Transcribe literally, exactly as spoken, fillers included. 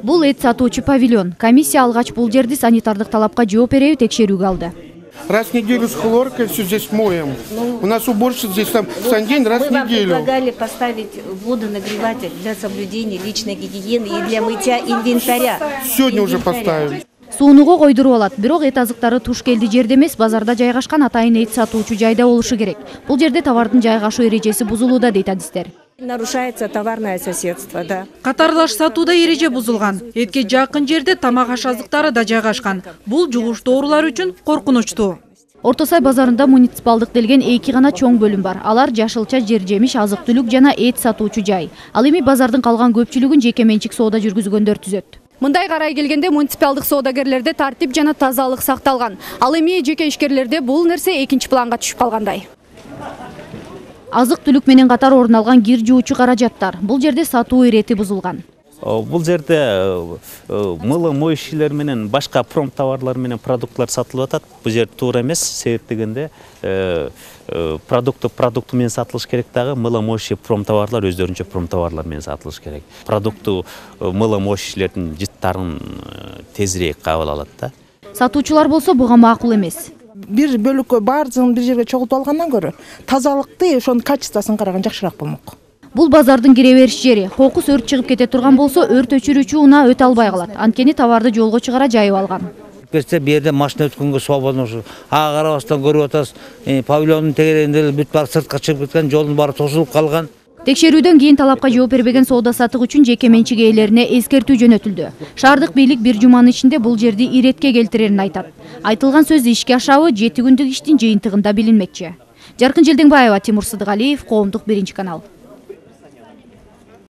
Бул эт сатуучу павильон. Комиссия алгач бул жерди санитардык талапка жооп береби текшерүүгө алды. Раз в неделю с хлоркой все здесь моем. У нас уборщица здесь там в день раз в неделю. Мы вам предлагали поставить водонагреватель для соблюдения личной гигиены и для мытья инвентаря. Сегодня уже поставили. Суунуга койдуруп алат. Бирок эт азыктары туш келди жерде эмес, базарда жайгашкан атайын эт сатуучу жайда болушу керек. Бул жерде товардын жайгашуу эрежеси бузулууда дейт адистер. Нарушается товарное соседство, да. Катарлаш сатууда эреже бузулган. Этке жакын жерде тамак аш азыктары да жайгашкан. Бул жугуштуу оорулар үчүн коркунучтуу. Орто Сай базарында муниципалдык делген эки гана чоң бөлүм бар. Алар жашылча жер жемиш, азык-түлүк жана эт сатуучу жай. Ал эми базардын калган көпчүлүгүн жеке менчик соода жүргүзгөндөр түзөт. Мындай карай келгенде муниципалдык соодагерлерде тартип жана тазалык сакталган. Ал эми жеке ишкерлерде бул нерсе экинчи планга түшүп калгандай. Азык-түлүк менен катар орун алган кир жуучу каражаттар. Бул жерде сатуу ирети бузулган. Бул жерде мылы моющийлер менен башка промтоварлар менен продуктлар сатылып атат. Бул жер туура эмес, себеп дегенде продукты продукты менен сатылыш керек дагы, мылы моющий промтоварлар өздөрүнчө промтоварлар менен сатылыш керек. Продукты мылы моющийлердин жыттарын тезирээк кабыл алат да. Сатуучулар болсо буга макул эмес. Бир бөлүккө баардыгын бир жерге чогултуп алгандан көрө тазалыкты, ошонун качествосын караган жакшыраак болмок. Бул базардын кире бериш жери. Кокус өрт чыгып кете турган болсо, өрт өчүрүүчү унаа өтө албай калат. Анткени товарды жолго чыгара жайып алган. Берсе бу жерде машина өткөнгө свободно ушу. Ага карабастан көрүп атасыз, павильондун тегерегинде бүт баары сыртка чыгып кеткен, жолдун баары тосулуп калган. Текшерүүдөн кийин талапка жооп бербеген соода сатык үчүн жеке менчик ээлерине эскертүү жөнөтүлдү. Шаардык бийлик бир жуманын ичинде бул жерди иретке келтирерин айтат. Айтылган сөз ишке ашабы жети күндүк иштин жыйынтыгында билинмекчи. Жаркын Желдеңбаева, Тимур Сыдыгалиев, Коомдук биринчи канал.